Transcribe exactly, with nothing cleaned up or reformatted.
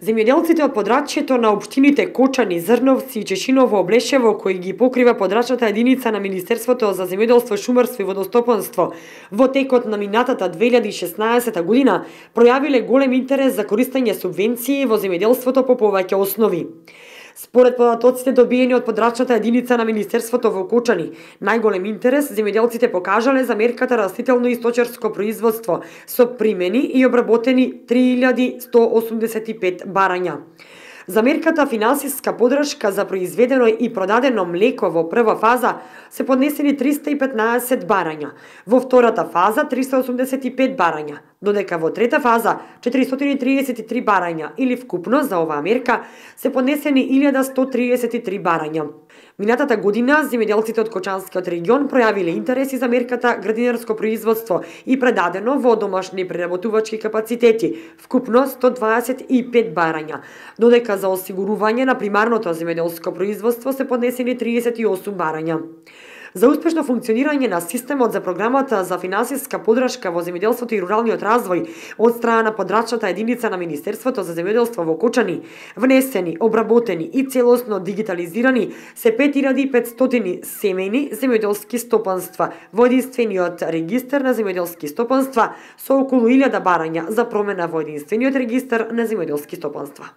Земјоделците од подрачјето на општините Кочани, Зрновци и Чешиново Облешево, кои ги покрива подрачната единица на Министерството за земјоделство, шумарство и водостопанство, во текот на минатата две илјади и шеснаесета година пројавиле голем интерес за користење субвенции во земјоделството по повеќе основи. Според податоците добиени од подрачната единица на Министерството во Кочани, најголем интерес земјоделците покажале за мерката растително и сточарско производство со примени и обработени три илјади сто осумдесет и пет барања. За мерката финансиска подршка за произведено и продадено млеко во прва фаза се поднесени триста и петнаесет барања, во втората фаза триста осумдесет и пет барања, додека во трета фаза четиристотини и триесет и три барања или вкупно за оваа мерка се поднесени илјада сто триесет и три барања. Минатата година земјоделците од Кочанскиот регион пројавиле интереси за мерката градинарско производство и предадено во домашни преработувачки капацитети, вкупно сто дваесет и пет барања, додека за осигурување на примарното земјоделско производство се поднесени триесет и осум барања. За успешно функционирање на системот за програмата за финансиска подршка во земјоделството и руралниот развој од страна на подрачната единица на Министерството за земјоделство во Кочани, внесени, обработени и целосно дигитализирани се пет илјади и петстотини семејни земјоделски стопанства во единствениот регистар на земјоделски стопанства со околу илјада барања за промена во единствениот регистар на земјоделски стопанства.